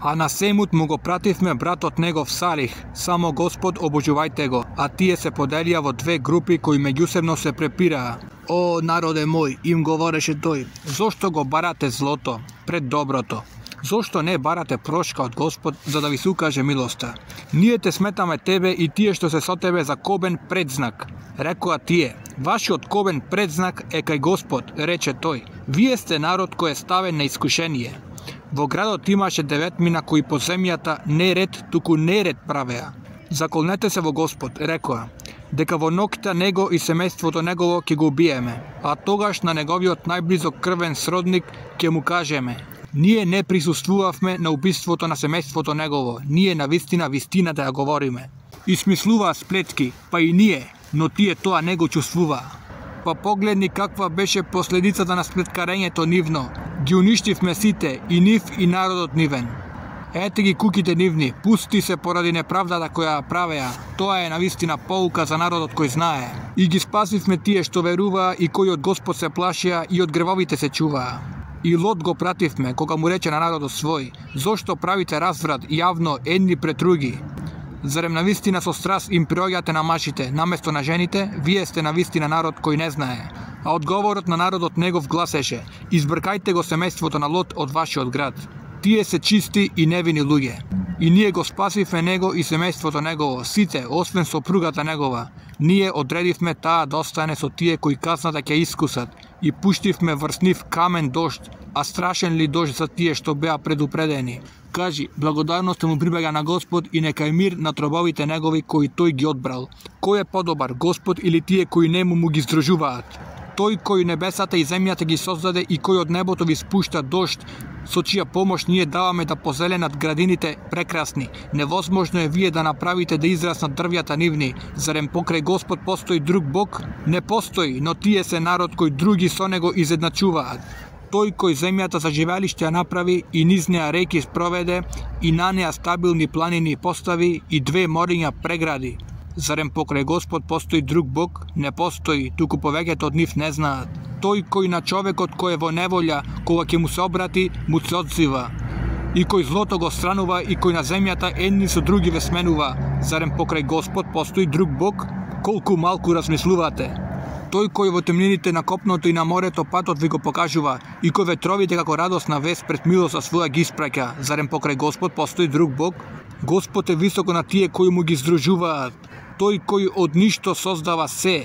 А на семут му го пративме братот негов Салих, само Господ обожувајте го, а тие се поделија во две групи кои меѓусебно се препираа. О, народе мој, им говореше тој, зошто го барате злото пред доброто? Зошто не барате прошка од Господ за да ви се укаже милоста? Ние те сметаме тебе и тие што се со тебе за кобен предзнак. Рекоа тие, вашиот кобен предзнак е кај Господ, рече тој. Вие сте народ кој е ставен на искушение. Во градот имаше деветмина кои по земјата не ред, туку неред правеа. Заколнете се во Господ, рекоа, дека во ноќта него и семејството негово ќе го убиеме, а тогаш на неговиот најблизок крвен сродник ќе му кажеме, ние не присуствувавме на убиството на семејството негово, ние на вистината ја говориме. И смислуваа сплетки, па и ние, но тие тоа не го чувствуваа. Па погледни каква беше последицата на сплеткарењето нивно. Ги уништивме сите, и нив и народот нивен. Ете ги куките нивни, пусти се поради неправдата која правеа. Тоа е навистина поука за народот кој знае. И ги спасивме тие што веруваа и кои од Господ се плашија и од гревовите се чуваа. И Лот го пративме, кога му рече на народот свој, зошто правите разврат јавно едни пред други? Зарем навистина со страст им приоѓате на мажите, наместо на жените, вие сте навистина народ кој не знае. А одговорот на народот негов гласеше, избркајте го семејството на Лот од вашиот град. Тие се чисти и невини луѓе. И ние го спасивме него и семејството негово, сите, освен сопругата негова. Ние одредивме таа да остане со тие кои казната ќе искусат и пуштивме врз нив камен дожд, а страшен ли дожд за тие што беа предупредени. Кажи, благодарноста му прибега на Господ и нека е мир на тробовите негови кои тој ги одбрал. Кој е подобар, Господ или тие кои нему му ги здружуваат? Тој кој небесата и земјата ги создаде и кој од небото ви спушта дожд, со чија помош ние даваме да позеленат градините прекрасни. Невозможно е вие да направите да израснат дрвјата нивни. Зарем покрај Господ постои друг Бог? Не постои, но тие се народ кој други со него изедначуваат. Тој кој земјата за живеалиште ја направи и низ неа реки спроведе и на неа стабилни планини постави и две мориња прегради. Зарем покрај Господ постои друг Бог? Не постои, туку повеќето од нив не знаат. Тој кој на човекот кој е во неволја, кога ќе му се обрати, му се одзива. И кој злото го странува и кој на земјата едни со други ве сменува. Зарем покрај Господ постои друг Бог? Колку малку размислувате. Тој кој во темнините на копното и на морето патот ви го покажува и кој ветровите како радосна вест пред милоста своја ги испраќа. Зарем покрај Господ постои друг Бог? Господ е високо на тие кои му ги здружуваат. Тој кој од ништо создава се,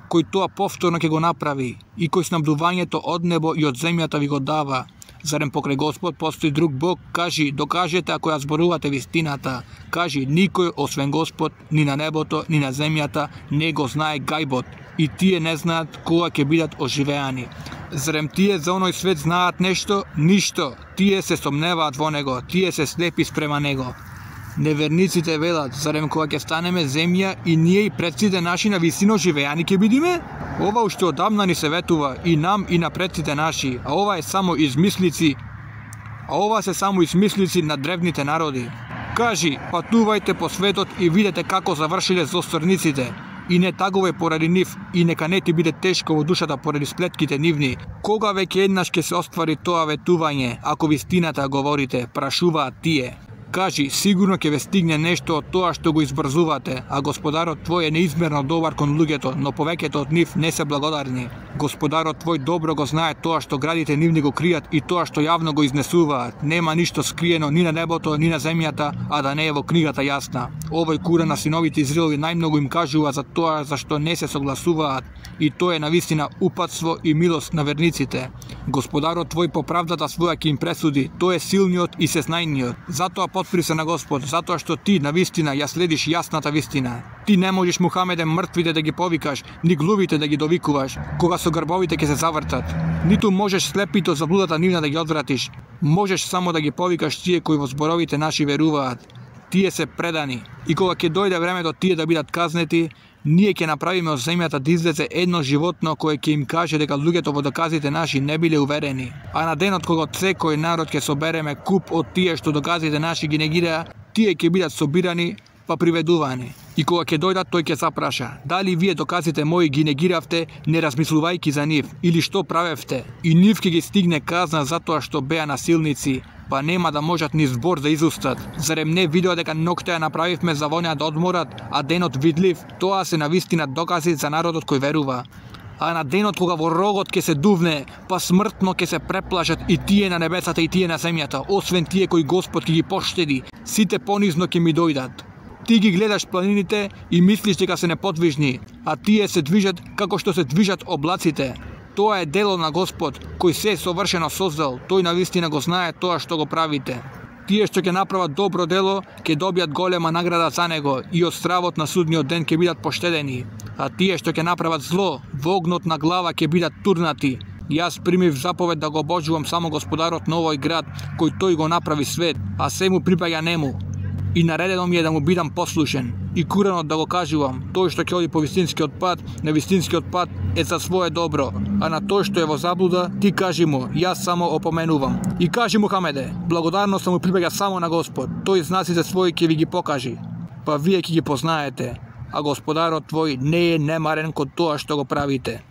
кој тоа повторно ќе го направи, и кој снабдувањето од небо и од земјата ви го дава. Зарем покрај Господ постои друг Бог? Кажи, докажете ако ја зборувате вистината. Кажи, никој освен Господ, ни на небото, ни на земјата, не го знае гајбот, и тие не знаат кога ќе бидат оживеани. Зарем тие за оној свет знаат нешто? Ништо. Тие се сомневаат во него, тие се слепи спрема него. Неверниците велат, зарем кога ќе станеме земја и ние и предците наши на висино живеани ќе бидиме? Ова уште одамна ни се ветува и нам и на предците наши, а ова се само измислици на древните народи. Кажи, патувајте по светот и видете како завршиле злосторниците. И не тагувај поради нив, и нека не ти биде тешко во душата поради сплетките нивни. Кога веќе еднаш ќе се оствари тоа ветување, ако вистината говорите, прашуваат тие. Кажи, сигурно ќе ве стигне нешто од тоа што го избрзувате, а Господарот твој е неизмерно добар кон луѓето, но повеќето од нив не се благодарни. Господарот твој добро го знае тоа што градите нивни го кријат и тоа што јавно го изнесуваат. Нема ништо скриено ни на небото, ни на земјата, а да не е во книгата јасна. Овој кура на синовите Израелови најмногу им кажува за тоа за што не се согласуваат, и тоа е навистина упатство и милост на верниците. Господарот твој по правдата своја ќе им пресуди, тој е силниот и сеснајниот. Затоа подпри се на Господ, затоа што ти навистина ја следиш јасната вистина. Ти не можеш, Мухамеде, мртвите да ги повикаш, ни глувите да ги довикуваш, кога со грбовите ќе се завртат. Ниту можеш слепито за блудата нивна да ги одвратиш. Можеш само да ги повикаш тие кои во зборовите наши веруваат. Тие се предани. И кога ќе дојде времето тие да бидат казнети, ние ќе направиме од земјата да излезе едно животно кое ќе им каже дека луѓето во доказите наши не биле уверени. А на денот кога секој народ ќе собереме куп од тие што доказите наши ги негираа, тие ќе бидат собирани па приведувани. И кога ќе дојдат, тој ќе запраша: дали вие доказите мои ги негиравте, не размислувајќи за нив, или што правевте? И нив ќе ги стигне казна затоа што беа насилници, па нема да можат ни збор да изустат. Зарем не видео дека ноќта ја направивме за вонја да одморат, а денот видлив? Тоа се навистина докази за народот кој верува. А на денот кога во рогот ќе се дувне, па смртно ќе се преплашат и тие на небесата и тие на земјата, освен тие кои Господ ќе ги поштеди, сите понизно ќе ми дојдат. Ти ги гледаш планините и мислиш дека се неподвижни, а тие се движат како што се движат облаците. Тоа е дело на Господ, кој се совршено создал, тој навистина го знае тоа што го правите. Тие што ќе направат добро дело, ќе добијат голема награда за него и од стравот на судниот ден ќе бидат поштедени. А тие што ќе направат зло, во огнот на глава ќе бидат турнати. Јас примив заповед да го обожувам само Господарот на овој град, кој тој го направи свет, а се му припаѓа нему. И наредено ми е да му бидам послушен. И куранот да го кажувам: тој што ќе оди по вистинскиот пат, на вистинскиот пат е за свое добро, а на тој што е во заблуда, ти кажи му: јас само опоменувам. И кажи му, Хамеде, благодарност му припаѓа само на Господ, тој знаците своји ќе ви ги покажи, па вие ќе ги познаете, а Господарот твој не е немарен кон тоа што го правите.